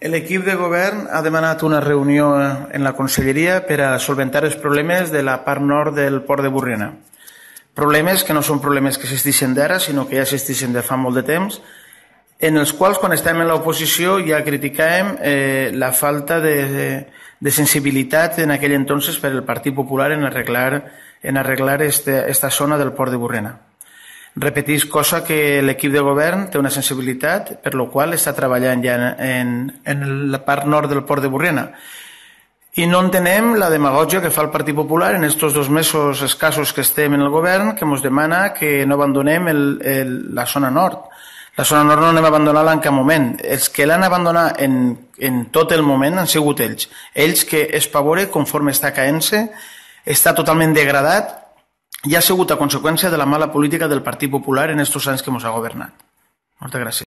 L'equip de govern ha demanat una reunió en la conselleria per a solventar els problemes de la part nord del port de Borriana. Problemes que no són problemes que existeixen d'ara, sinó que ja existeixen de fa molt de temps, en els quals, quan estem en l'oposició, ja criticàvem la falta de sensibilitat en aquell entonces per el Partit Popular en arreglar esta zona del port de Borriana. Repetís cosa que l'equip de govern té una sensibilitat per la qual està treballant ja en la part nord del port de Borriana. I no entenem la demagògia que fa el Partit Popular en aquests 2 mesos escassos que estem en el govern, que ens demana que no abandonem la zona nord. La zona nord no anem a abandonar-la en cap moment. Els que l'han abandonat en tot el moment han sigut ells. Ells que Espavore, conforme està caent-se, està totalment degradat i ha sigut a conseqüència de la mala política del Partit Popular en aquests anys que ens ha governat. Moltes gràcies.